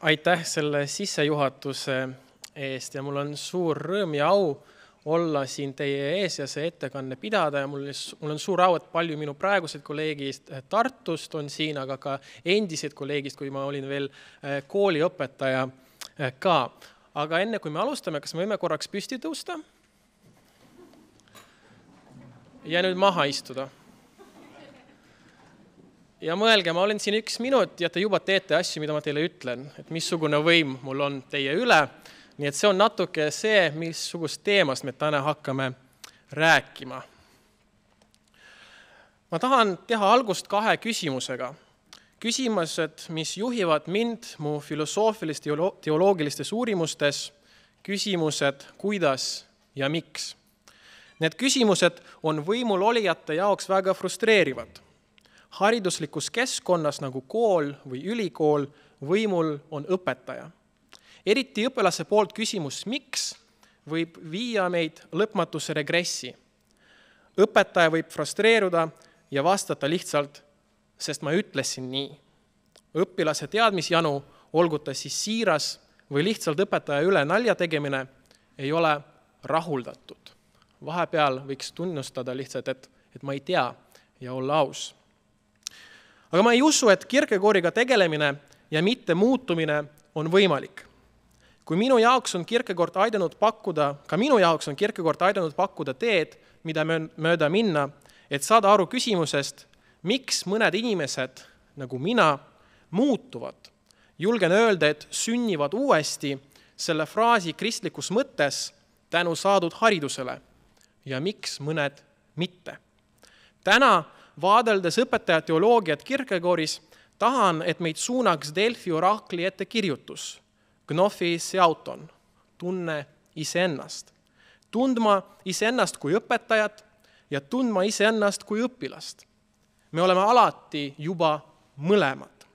Aitäh selle sissejuhatuse eest ja mul on suur rõõm ja au olla siin teie ees ja see ettekanne pidada ja mul on suur au, et palju minu praegused kolleegist Tartust on siin, aga ka endised kolleegist, kui ma olin veel kooliõpetaja ka. Aga enne kui me alustame, kas me võime korraks püsti tõusta? Ja nüüd maha istuda. Ja mõelge, ma olen siin 1 minut ja te juba teete asju, mida ma teile ütlen, et missugune võim mul on teie üle. Nii et see on natuke see, missugust teemast me täna hakkame rääkima. Ma tahan teha algust 2 küsimusega. Küsimused, mis juhivad mind mu filosoofilis-teoloogilistes uurimustes, küsimused, kuidas ja miks. Need küsimused on võimul olijate jaoks väga frustreerivad. Hariduslikus keskkonnas nagu kool või ülikool võimul on õpetaja. Eriti õpilase poolt küsimus miks võib viia meid lõpmatuse regressi. Õpetaja võib frustreeruda ja vastata lihtsalt, sest ma ütlesin nii. Õpilase teadmisjanu, olgu ta siis siiras või lihtsalt õpetaja üle nalja tegemine, ei ole rahuldatud. Vahepeal võiks tunnustada lihtsalt, et ma ei tea ja olla aus. Aga ma ei usu, et Kierkegaardiga tegelemine ja mitte muutumine on võimalik. Kui minu jaoks on Kierkegaard aidanud pakkuda teed, mida mööda minna, et saada aru küsimusest, miks mõned inimesed, nagu mina, muutuvad. Julgen öelda, et sünnivad uuesti selle fraasi kristlikus mõttes tänu saadud haridusele ja miks mõned mitte. Täna vaadeldes õpetaja teoloogiat Kierkegaardis, tahan, et meid suunaks Delfi orakli ette kirjutus. Gnophi seauton, tunne iseennast. Tundma iseennast kui õpetajat ja tundma iseennast kui õpilast. Me oleme alati juba mõlemad.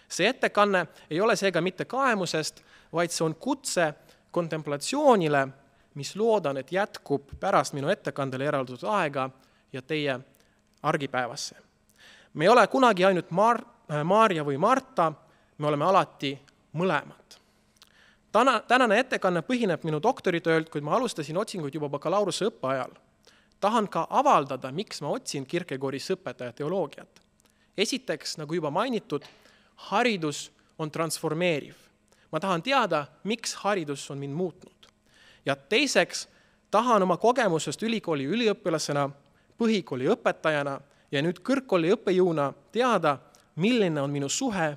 See ettekanne ei ole seega mitte kaemusest, vaid see on kutse kontemplatsioonile, mis loodan, et jätkub pärast minu ettekandele eraldatud aega ja teie argipäevasse. Me ei ole kunagi ainult Maarja või Marta, me oleme alati mõlemad. Tänane ettekanne põhineb minu doktoritöölt, kuid ma alustasin otsinguid juba bakalaureuse õppeajal. Tahan ka avaldada, miks ma otsin Kierkegaardis õpetaja teoloogiat. Esiteks, nagu juba mainitud, haridus on transformeeriv. Ma tahan teada, miks haridus on mind muutnud. Ja teiseks, tahan oma kogemusest ülikooli üliõpilasena, põhikooli õpetajana ja nüüd kõrgkooli õppejõuna teada, milline on minu suhe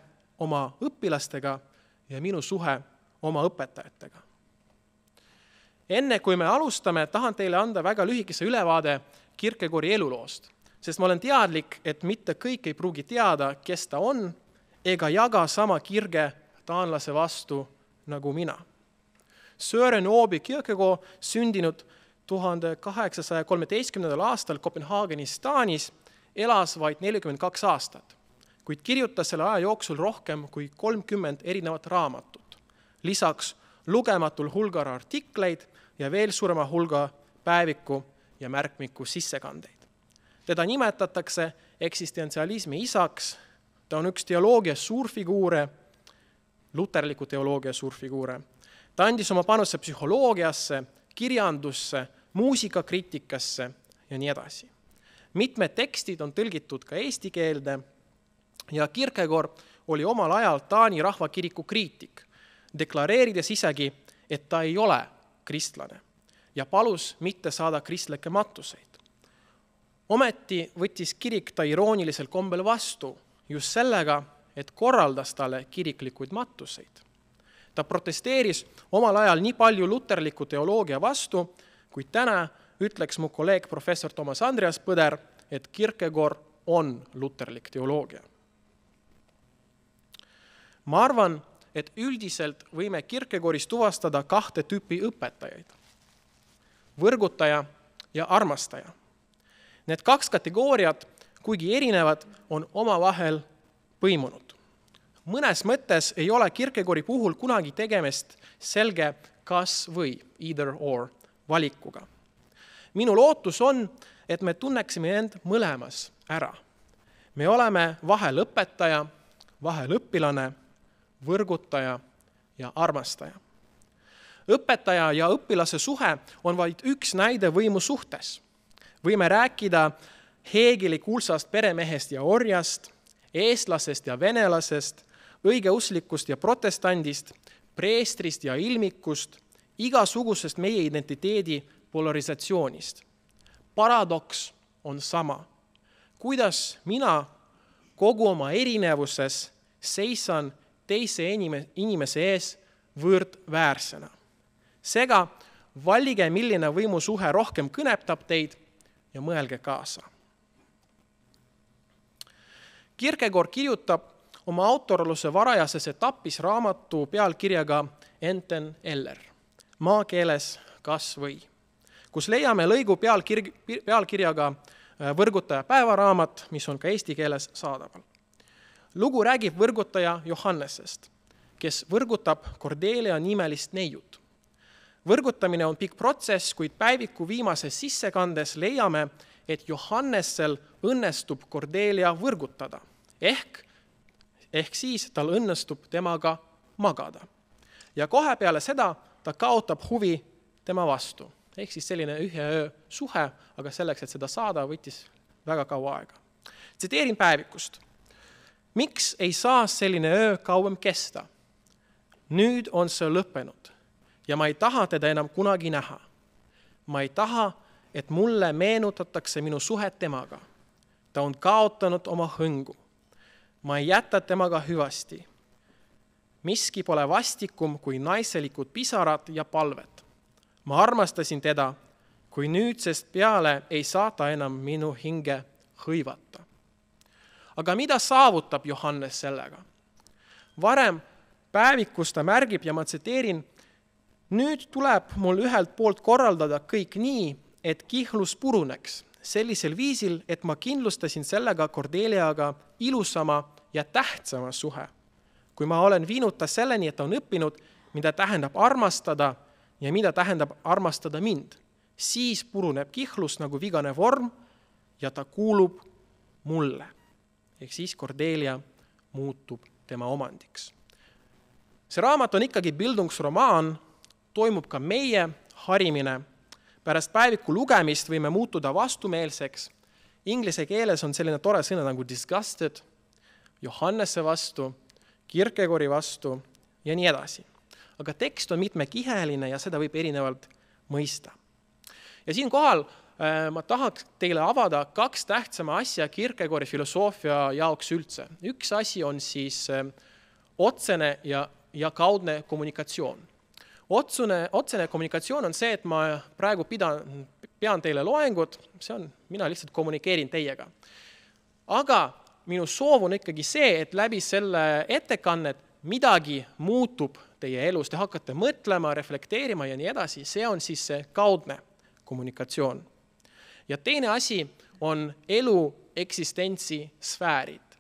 oma õpilastega ja minu suhe oma õpetajatega. Enne kui me alustame, tahan teile anda väga lühikese ülevaade Kierkegaardi eluloost, sest ma olen teadlik, et mitte kõik ei pruugi teada, kes ta on, ega jaga sama kirge taanlase vastu nagu mina. Søren Åby Kierkegaard sündinud 1813. aastal Kopenhaagenis, Taanis, elas vaid 42 aastat, kuid kirjutas selle aja jooksul rohkem kui 30 erinevat raamatut. Lisaks lugematul hulgal artikleid ja veel suurema hulga päeviku ja märkmiku sissekandeid. Teda nimetatakse eksistentsialismi isaks, ta on üks teoloogia suurfiguure, luterliku teoloogia suurfiguure. Ta andis oma panuse psühholoogiasse, kirjandusse, muusikakriitikasse ja nii edasi. Mitmed tekstid on tõlgitud ka eesti keelde ja Kierkegaard oli omal ajal Taani rahvakiriku kriitik, deklareerides isegi, et ta ei ole kristlane ja palus mitte saada kristlikke matuseid. Ometi võttis kirik ta iroonilisel kombel vastu just sellega, et korraldas talle kiriklikuid matuseid. Ta protesteeris omal ajal nii palju luterliku teoloogia vastu, kuid täna ütleks mu kolleeg professor Toomas Andreas Põder, et Kierkegaard on luterlik teoloogia. Ma arvan, et üldiselt võime Kierkegaardis tuvastada 2 tüüpi õpetajaid. Võrgutaja ja armastaja. Need 2 kategooriat, kuigi erinevad, on omavahel põimunud. Mõnes mõttes ei ole Kierkegaardi puhul kunagi tegemist selge kas või either or valikuga. Minu lootus on, et me tunneksime end mõlemas ära. Me oleme vahel õpetaja, vahel õpilane, võrgutaja ja armastaja. Õpetaja ja õpilase suhe on vaid üks näide võimu suhtes. Võime rääkida Hegeli kuulsast peremehest ja orjast, eestlasest ja venelasest, õigeuslikust ja protestandist, preestrist ja ilmikust, igasugusest meie identiteedi polarisatsioonist. Paradoks on sama. Kuidas mina kogu oma erinevuses seisan teise inimese ees võrdväärsena. Seega valige, milline võimusuhe rohkem kõnetab teid ja mõelge kaasa. Kierkegaard kirjutab oma autorluse varajases etapis raamatu pealkirjaga Enten Eller, maakeeles kas või, kus leiame lõigu pealkirjaga Võrgutaja päevaraamat, mis on ka eesti keeles saadaval. Lugu räägib võrgutaja Johannesest, kes võrgutab Cordelia nimelist neiut. Võrgutamine on pikk protsess, kuid päeviku viimases sissekandes leiame, et Johannessel õnnestub Cordelia võrgutada, ehk siis tal õnnestub temaga magada. Ja kohe peale seda ta kaotab huvi tema vastu, ehk siis selline ühe öö suhe, aga selleks, et seda saada, võttis väga kaua aega. Tsiteerin päevikust. Miks ei saa selline öö kauem kesta? Nüüd on see lõppenud ja ma ei taha teda enam kunagi näha. Ma ei taha, et mulle meenutatakse minu suhet temaga. Ta on kaotanud oma hõngu. Ma ei jäta temaga hüvasti. Miski pole vastikum kui naiselikud pisarad ja palved. Ma armastasin teda, kui nüüdsest peale ei saa ta enam minu hinge hõivata. Aga mida saavutab Johannes sellega? Varem päevikus ta märgib ja ma tsiteerin, nüüd tuleb mul ühelt poolt korraldada kõik nii, et kihlus puruneks, sellisel viisil, et ma kindlustasin sellega Cordeliaga ilusama ja tähtsama suhe. Kui ma olen viinud ta selleni, et ta on õppinud, mida tähendab armastada ja mida tähendab armastada mind, siis puruneb kihlus nagu vigane vorm ja ta kuulub mulle. Ehk siis Cordelia muutub tema omandiks. See raamat on ikkagi bildungsromaan, toimub ka meie harimine. Pärast päeviku lugemist võime muutuda vastumeelseks. Inglise keeles on selline tore sõna nagu disgusted, Johannese vastu, Kierkegaardi vastu ja nii edasi. Aga tekst on mitmekiheline ja seda võib erinevalt mõista. Ja siinkohal ma tahaks teile avada kaks tähtsama asja Kierkegaardi filosoofia jaoks üldse. Üks asi on siis otsene ja kaudne kommunikatsioon. Otsene kommunikatsioon on see, et ma praegu pean teile loengut, mina lihtsalt kommunikeerin teiega. Aga minu soov on ikkagi see, et läbi selle ettekannet midagi muutub teie elus, te hakkate mõtlema, reflekteerima ja nii edasi, see on siis see kaudne kommunikatsioon. Ja teine asi on elu eksistentsi sfäärid.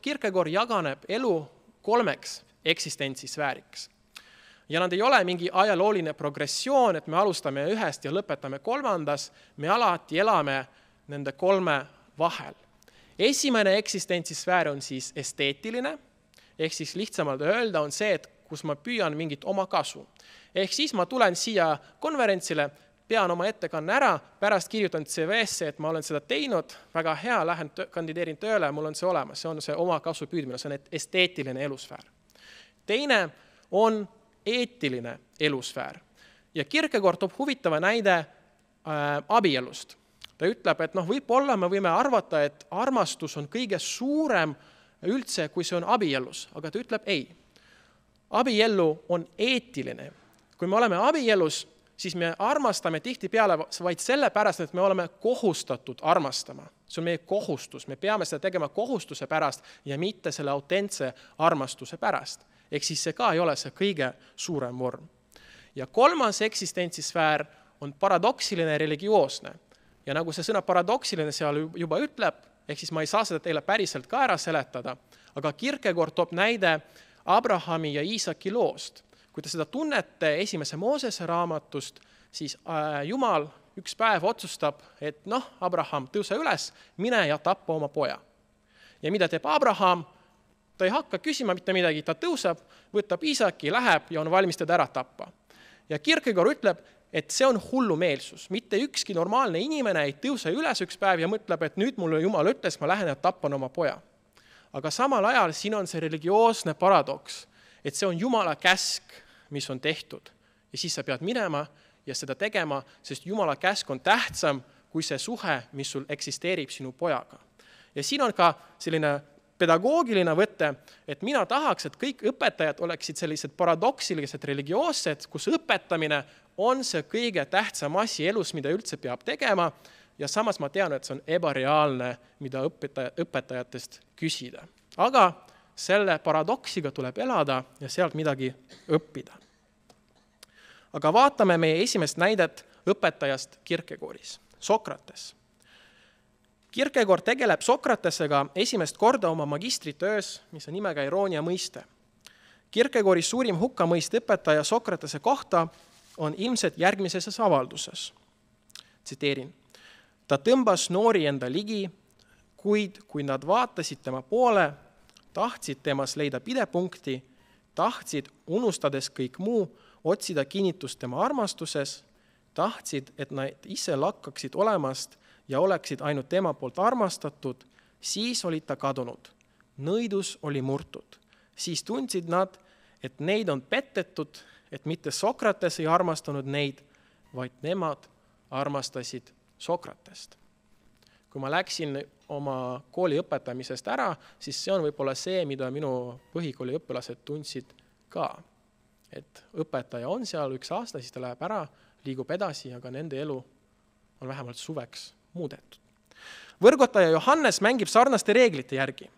Kierkegaard jaganeb elu 3 eksistentsi sfääriks. Ja nad ei ole mingi ajalooline progressioon, et me alustame 1 ja lõpetame 3, me alati elame nende 3 vahel. Esimene eksistentsi sfäär on siis esteetiline, ehk siis lihtsamalt öelda on see, et kus ma püüan mingit oma kasu. Ehk siis ma tulen siia konverentsile, pean oma ettekanne ära, pärast kirjutan CV-sse, et ma olen seda teinud, väga hea, lähen kandideerin tööle, mul on see olemas, see on see oma kasu püüdmine, see on esteetiline elusfäär. Teine on eetiline elusfäär. Ja Kierkegaard toob huvitava näide abielust. Ta ütleb, et võib-olla me võime arvata, et armastus on kõige suurem üldse, kui see on abielus, aga ta ütleb ei. Abiellu on eetiline. Kui me oleme abielus, siis me armastame tihtipeale vaid selle pärast, et me oleme kohustatud armastama. See on meie kohustus, me peame seda tegema kohustuse pärast ja mitte selle autentse armastuse pärast. Ehk siis see ka ei ole see kõige suurem vorm. Ja 3. eksistentsisfäär on paradoksiline religioosne. Ja nagu see sõna paradoksiline seal juba ütleb, ehk siis ma ei saa seda teile päriselt ka ära seletada, aga Kierkegaard toob näide Abrahami ja Iisaki loost. Kui te seda tunnete 1. Moosese raamatust, siis Jumal üks päev otsustab, et Abraham, tõuse üles, mine ja tappa oma poja. Ja mida teeb Abraham? Ta ei hakka küsima mitte midagi, ta tõuseb, võtab isaki, läheb ja on valmis teda ära tappa. Ja Kierkegaard ütleb, et see on hullumeelsus. Mitte ükski normaalne inimene ei tõuse üles üks päev ja mõtleb, et nüüd mulle Jumal ütles, ma lähen ja tappan oma poja. Aga samal ajal siin on see religioosne paradoks, et see on Jumala käsk, mis on tehtud. Ja siis sa pead minema ja seda tegema, sest Jumala käsk on tähtsam kui see suhe, mis sul eksisteerib sinu pojaga. Ja siin on ka selline pedagoogiline võte, et mina tahaks, et kõik õpetajad oleksid sellised paradoksilised religioossed, kus õpetamine on see kõige tähtsam asi elus, mida üldse peab tegema, ja samas ma tean, et see on ebareaalne, mida õpetajatest küsida. Aga selle paradoksiga tuleb elada ja sealt midagi õppida. Aga vaatame meie esimest näidet õpetajast Kierkegaardis, Sokrates. Kierkegaard tegeleb Sokratesega esimest korda oma magistritöös, mis on nimega Iroonia mõiste. Kierkegaardi suurim hukkamõist õpetaja Sokratese kohta on ilmselt järgmises avalduses. Tsiteerin. Ta tõmbas noori enda ligi, kuid kui nad vaatasid tema poole, tahtsid temas leida pidepunkti, tahtsid, unustades kõik muu, otsida kinnitust tema armastuses, tahtsid, et nad ise lakkaksid olemast ja oleksid ainult tema poolt armastatud, siis olid ta kadunud. Nõidus oli murtud. Siis tundsid nad, et neid on petetud, et mitte Sokrates ei armastanud neid, vaid nemad armastasid Sokratest. Kui ma läksin oma kooli õpetamisest ära, siis see on võib-olla see, mida minu põhikooli õpilased tundsid ka. Et õpetaja on seal üks aasta, siis ta läheb ära, liigub edasi, aga nende elu on vähemalt suveks muudetud. Võrgotaja Johannes mängib sarnaste reeglite järgi.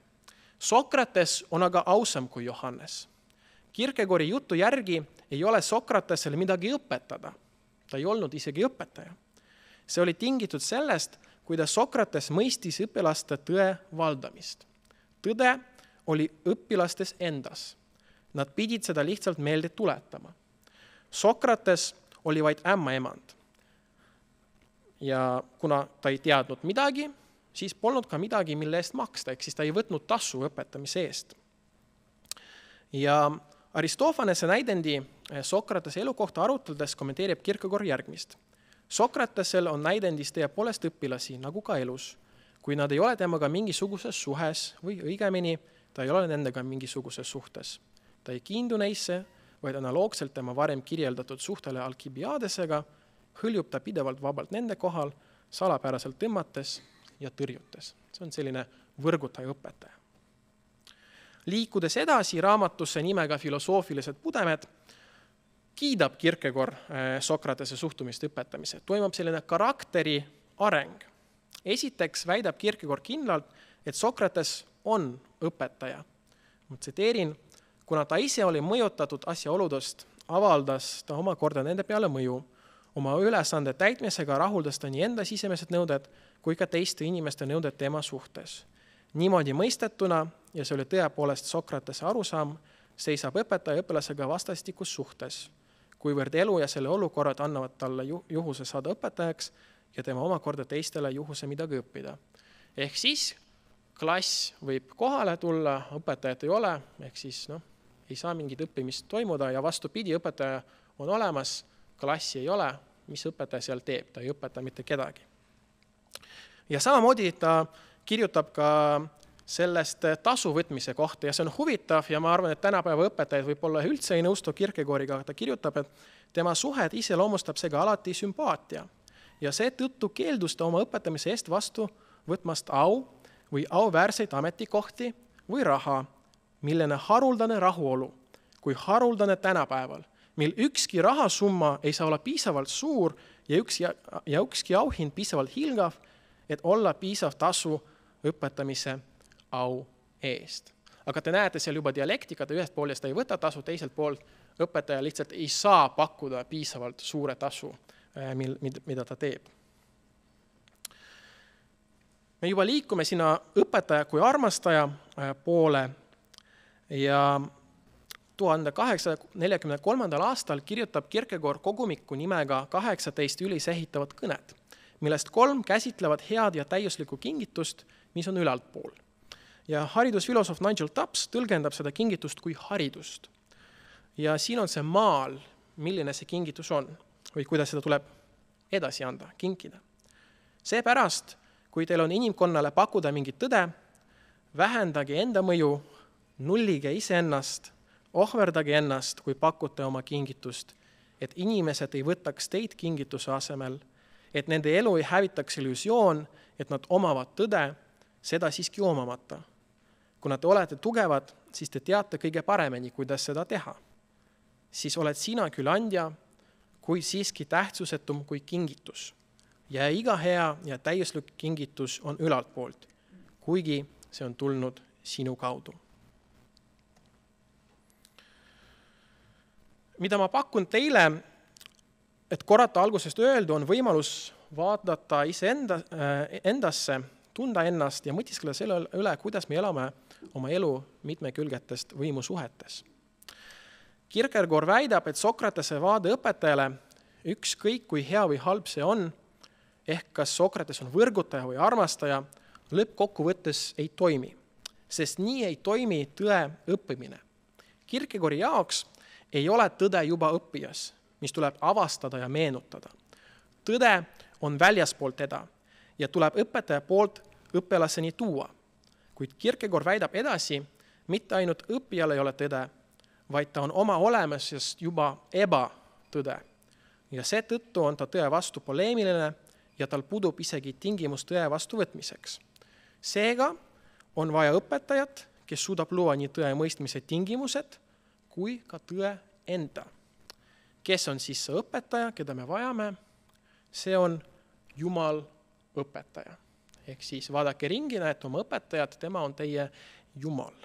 Sokrates on aga ausam kui Johannes. Kierkegaardi jutu järgi ei ole Sokratesele midagi õpetada. Ta ei olnud isegi õpetaja. See oli tingitud sellest, kuidas Sokrates mõistis õpilaste tõe valdamist. Tõde oli õpilastes endas. Nad pidid seda lihtsalt meelde tuletama. Sokrates oli vaid ämmaemand. Ja kuna ta ei teadnud midagi, siis polnud ka midagi, mille eest maksta, ehk siis ta ei võtnud tasu õpetamise eest. Ja Aristofanese näidendi Sokratese elu kohta arutledes kommenteerib Kierkegaard järgmist. Sokratesel on näidendis tõepoolest õpilasi, nagu ka elus, kui nad ei ole temaga mingisuguses suhes või õigemini, ta ei ole nendega mingisuguses suhtes. Ta ei kiindu neisse, vaid analoogselt tema varem kirjeldatud suhtele Alkibiadesega, hõljub ta pidevalt vabalt nende kohal, salapäraselt tõmmates ja tõrjutes. See on selline võrgutaja õpetaja. Liikudes edasi raamatusse nimega Filosoofilised pudemed, kiidab Kierkegaard Sokratese suhtumist õpetamise. Toimub selline karakteri areng. Esiteks väidab Kierkegaard kindlalt, et Sokrates on õpetaja. Ma tsiteerin, kuna ta ise oli mõjutatud asjaoludest, avaldas ta omakorda nende peale mõju. Oma ülesande täitmisega rahuldas ta nii enda sisemised nõuded kui ka teiste inimeste nõuded tema suhtes. Niimoodi mõistetuna, ja see oli tõepoolest Sokratese arusaam, seisab õpetaja õpilasega vastastikus suhtes, kuivõrd elu ja selle olukorrad annavad talle juhuse saada õpetajaks ja tema omakorda teistele juhuse midagi õppida. Ehk siis klass võib kohale tulla, õpetajat ei ole, ehk siis ei saa mingit õppimist toimuda ja vastupidi, õpetaja on olemas, klassi ei ole, mis õpetaja seal teeb, ta ei õpeta mitte kedagi. Ja samamoodi ta kirjutab ka sellest tasu võtmise kohta ja see on huvitav ja ma arvan, et tänapäeva õpetajad võib-olla üldse ei nõustu Kierkegaardiga, ta kirjutab, et tema suhed iseloomustab seega alati sümpaatia ja seetõttu keeldus ta oma õpetamise eest vastu võtmast au või auväärseid ametikohti või raha, millene haruldane rahuolu kui haruldane tänapäeval, mil ükski rahasumma ei saa olla piisavalt suur ja ükski auhind piisavalt hilgav, et olla piisav tasu õpetamise au eest. Aga te näete seal juba dialektikat, ühest poolest ta ei võta tasu, teiselt poolt õpetaja lihtsalt ei saa pakkuda piisavalt suure tasu, mida ta teeb. Me juba liikume sinna õpetaja kui armastaja poole ja 1843. aastal kirjutab Kierkegaard kogumiku nimega 18 ülisehitavat kõnet, millest 3 käsitlevad head ja täiuslikku kingitust, mis on ülaltpool. Ja haridusfilosoof Nigel Tubbs tõlgendab seda kingitust kui haridust. Ja siin on see maal, milline see kingitus on või kuidas seda tuleb edasi anda, kinkida. Seepärast, kui teil on inimkonnale pakkuda mingit tõde, vähendage enda mõju, nullige iseennast, ohverdage ennast, kui pakute oma kingitust, et inimesed ei võtaks teid kingituse asemel, et nende elu ei hävitaks illusioon, et nad omavad tõde, seda siiski omamata. Kuna te olete tugevad, siis te teate kõige paremini, kuidas seda teha. Siis oled sina küll andja, kui siiski tähtsusetum kui kingitus. Ja iga hea ja täiuslik kingitus on ülalt poolt, kuigi see on tulnud sinu kaudu. Mida ma pakun teile, et korrata algusest öeldu, on võimalus vaadata endasse, tunda ennast ja mõtiskleda selle üle, kuidas me elame oma elu mitmekülgetest võimusuhetes. Kierkegaard väidab, et Sokratese vaade õpetajale, ükskõik kui hea või halb see on, ehk kas Sokrates on võrgutaja või armastaja, lõppkokkuvõttes ei toimi, sest nii ei toimi tõe õppimine. Kierkegaardi jaoks ei ole tõde juba õppijas, mis tuleb avastada ja meenutada. Tõde on väljaspool teda ja tuleb õpetaja poolt õppelaseni tuua. Kuid Kierkegaard väidab edasi, mitte ainult õppijal ei ole tõde, vaid ta on oma olemusest juba ebatõde. Ja seetõttu on ta tõe vastu poleemiline ja tal pudub isegi tingimus tõe vastu võtmiseks. Seega on vaja õpetajat, kes suudab luua nii tõe mõistmise tingimused kui ka tõe enda. Kes on siis see õpetaja, keda me vajame? See on Jumal õpetaja. Ehk siis vaadake ringi, näete oma õpetajat, tema on teie Jumal.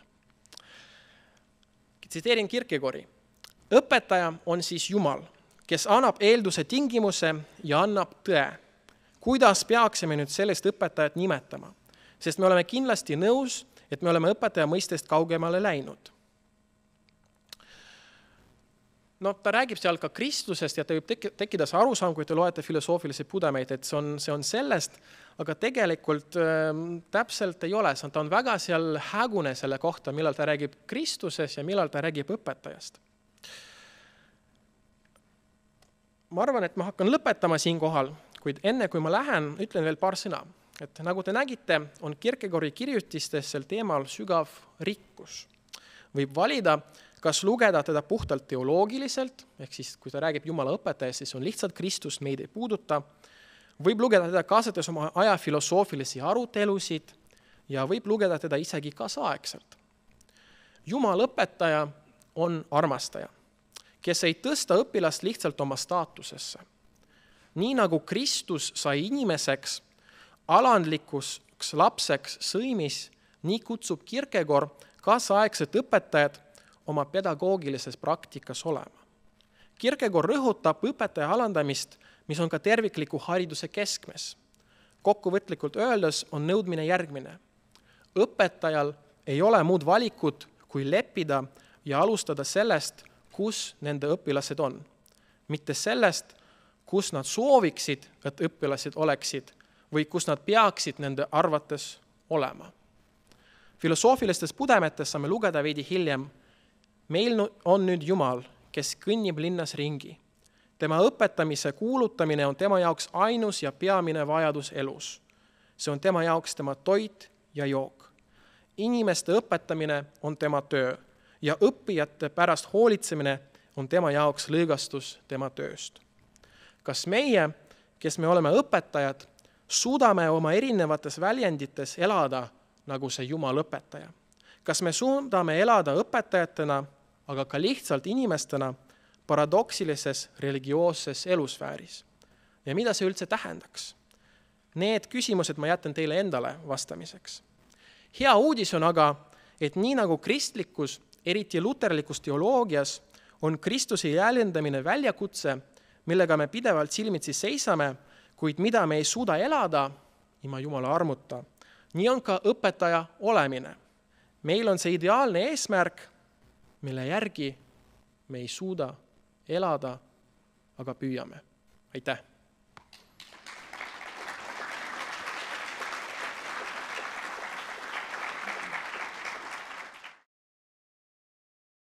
Tsiteerin Kierkegaardi. Õpetaja on siis Jumal, kes annab eelduse tingimuse ja annab tõe. Kuidas peaksime nüüd sellest õpetajat nimetama? Sest me oleme kindlasti nõus, et me oleme õpetaja mõistest kaugemale läinud. No, ta räägib seal ka Kristusest ja ta võib tekkida see arusaam, kui te loete filosoofilisi pudemeid, et see on sellest, aga tegelikult täpselt ei ole. Ta on väga seal hägune selle kohta, millal ta räägib Kristusest ja millal ta räägib õpetajast. Ma arvan, et ma hakkan lõpetama siin kohal, kuid enne kui ma lähen, ütlen veel paar sõna. Et nagu te nägite, on Kierkegaardi kirjutistes sel teemal sügav rikkus. Võib valida, kas lugeda teda puhtalt teoloogiliselt, ehk siis kui ta räägib Jumala õpetajast, siis on lihtsalt Kristus, meid ei puuduta. Võib lugeda teda kaasates oma aja filosoofilisi arutelusid ja võib lugeda teda isegi kaasaegselt. Jumal õpetaja on armastaja, kes ei tõsta õpilast lihtsalt oma staatusesse. Nii nagu Kristus sai inimeseks, alandlikuks lapseks sõimis, nii kutsub Kierkegaard kaasaegset õpetajat oma pedagoogilises praktikas olema. Kierkegaard rõhutab õpetaja alandamist, mis on ka tervikliku hariduse keskmes. Kokkuvõtlikult öeldes on nõudmine järgmine. Õpetajal ei ole muud valikut, kui leppida ja alustada sellest, kus nende õpilased on. Mitte sellest, kus nad sooviksid, et õpilased oleksid või kus nad peaksid nende arvates olema. Filosoofilistes pudemetes saame lugeda veidi hiljem. Meil on nüüd Jumal, kes kõnnib linnas ringi. Tema õpetamise kuulutamine on tema jaoks ainus ja peamine vajadus elus. See on tema jaoks tema toit ja jook. Inimeste õpetamine on tema töö ja õppijate pärast hoolitsemine on tema jaoks lõõgastus tema tööst. Kas meie, kes me oleme õpetajad, suudame oma erinevates väljendites elada nagu see Jumal õpetaja? Kas me suudame elada õpetajatena, aga ka lihtsalt inimestena paradoksilises religioosses elusfääris? Ja mida see üldse tähendaks? Need küsimused ma jätan teile endale vastamiseks. Hea uudis on aga, et nii nagu kristlikus, eriti luterlikus teoloogias, on Kristuse jäljendamine väljakutse, millega me pidevalt silmitsi seisame, kuid mida me ei suuda elada ilma Jumala armuta. Nii on ka õpetaja olemine. Meil on see ideaalne eesmärk, mille järgi me ei suuda elada, aga püüame. Aitäh!